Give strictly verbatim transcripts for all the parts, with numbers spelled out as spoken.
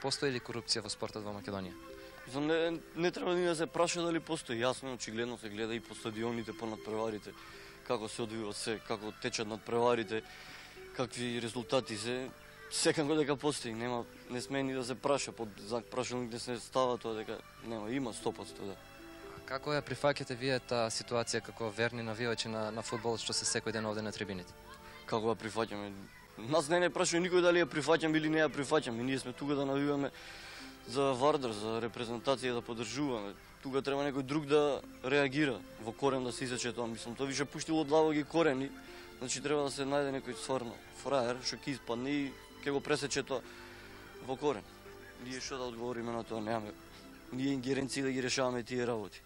Постои ли корупција во спортот во Македонија? Не, не треба ни да се праша дали постои. Јасно, очигледно се гледа и по стадионите, по надпреварите, како се одвива се, како течат надпреварите, какви резултати се. Секако дека постои, нема, не сме ни да се праша, под знак прашалник не се става тоа дека нема, има сто проценти да. Како ја прифаќате вие таа ситуација како верни навивачи на, на фудбалот што се секој ден овде на трибините? Како ја прифаќаме? Нас не не прашува никој дали ја прифаќаме или не ја прифаќаме. Ние сме тука да навиваме за Вардар, за репрезентација да поддржуваме. Тука треба некој друг да реагира, во корен да се исече тоа. Мислам, тоа више пуштило длабоки корени, значи треба да се најде некој стварно фраер што ќе испадне и ќе го пресече тоа во корен. Ние што да одговориме на тоа, немаме ние ингеренции да ги решаваме тие работи.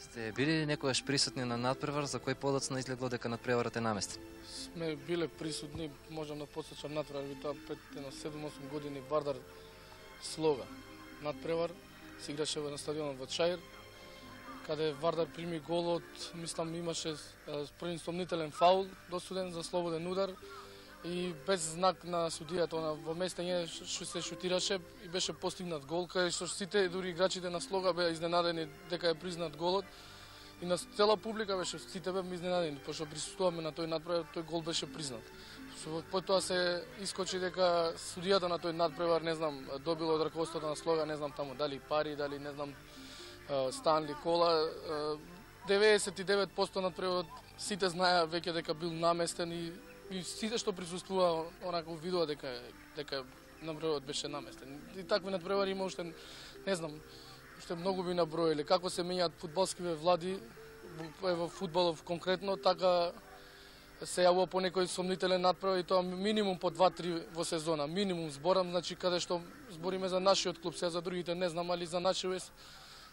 Сте били некогаш присутни на надпревар за кој подоцна изгледло дека надпреварот е наместен? Сме биле присутни, можам да потсечам надпревар, ви тоа пред седум-осум години Вардар Слога. Надпревар се играше на стадионот во Чаир, каде Вардар прими голот, мислам имаше првен сомнителен фаул досуден за слободен удар и без знак на судијата она во местење што се шутираше и беше постигнат гол, каде што сите дури играчите на Слога беа изненадени дека е признат голот и на цела публика беше, сите беа изненадени пошто присуствуваме на тој надпревар, тој гол беше признат. Потоа се искочи дека судијата на тој надпревар, не знам, добило од раководството на Слога, не знам таму дали пари, дали не знам Станли кола. деветдесет и девет проценти надпреварот сите знаеа веќе дека бил наместен и, и сите што присуствува онако видува дека дека надпреварот беше наместен. И такви надпревари има уште, не знам, уште многу би наброиле. Како се менјаат фудбалскиве влади во фудбалов конкретно, така се јавува по некој сомнителен надпревар и тоа минимум по два-три во сезона. Минимум зборам, значи каде што збориме за нашиот клуб, сега за другите не знам, али за нашиот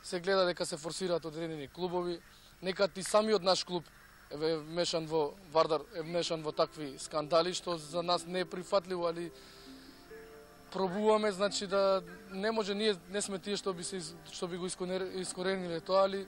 се гледа дека се форсираат одредени клубови. Некад и самиот наш клуб е мешан во Вардар, е мешан во такви скандали, што за нас не е прифатливо, али пробуваме, значи да не може, ние не сме тие што би се што би го искорениле тоа, али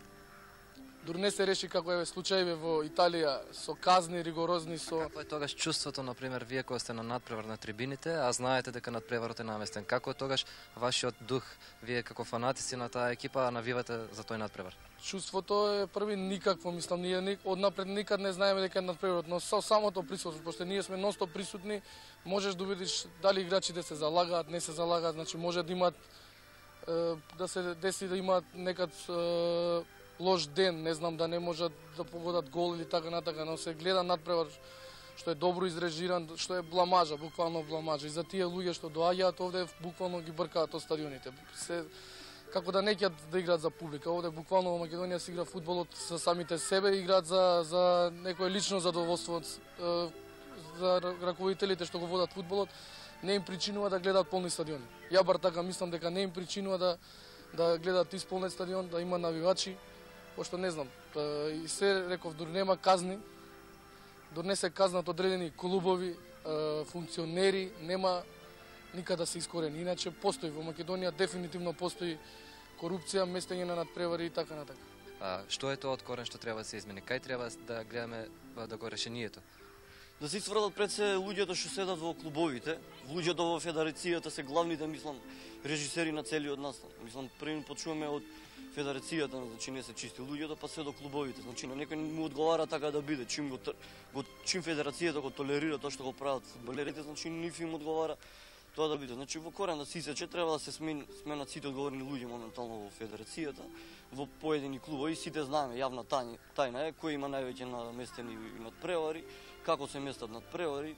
дури не се реши како е случајиве во Италија со казни ригорозни со. Како е тогаш чувството, на пример, вие кога сте на надпревар на трибините, а знаете дека надпреварот е наместен? Како е тогаш вашиот дух, вие како фанатици на таа екипа навивате за тој надпревар? Чувството е први никакво, мислам, ние однапред никад не знаеме дека е надпреварот, но со самото присуство, пошто ние сме нонстоп присутни, можеш да видиш дали играчите се залагаат, не се залагаат, значи може да имаат да се деси да имаат некад лош ден, не знам, да не можат да погодат гол или така натака, но се гледа надпревар што е добро изрежиран, што е бламажа, буквално бламажа. И за тие луѓе што доаѓаат овде, буквално ги бркаат од стадионите. Се, како да не ќе да играат за публика. Овде буквално во Македонија се игра фудбалот за самите себе, играат за, за некое лично задоволство за раководителите што го водат фудбалот, не им причинува да гледаат полни стадиони. Ја бар така мислам дека не им причинува да, да гледаат исполнет стадион, да има навивачи, пошто не знам, и се реков, дури нема казни, дури не се казнат одредени клубови, функционери, нема никада се искорени. Иначе постои во Македонија, дефинитивно постои корупција, местење на надпревари и така натака. А што е тоа од корен што треба да се измени? Кај треба да гледаме да го решението? Да се сврдат пред се луѓето што седат во клубовите, луѓето во федерацијата се главните, мислам, режисери на целиот настан. Мислам, први почуваме од федерацијата, значи не се чисти луѓето, па се до клубовите. Значи на некој му одговара така да биде, чим го, го чим федерацијата го толерира тоа што го прават фудбалерите, значи ниф им одговара тоа да биде. Значи во корен да се исече треба да се смен, сменат сите одговорни луѓе моментално во федерацијата, во поедини клубови, сите знаеме, јавна тајна е кој има највеќе наместени надпревари, како се местат надпревари,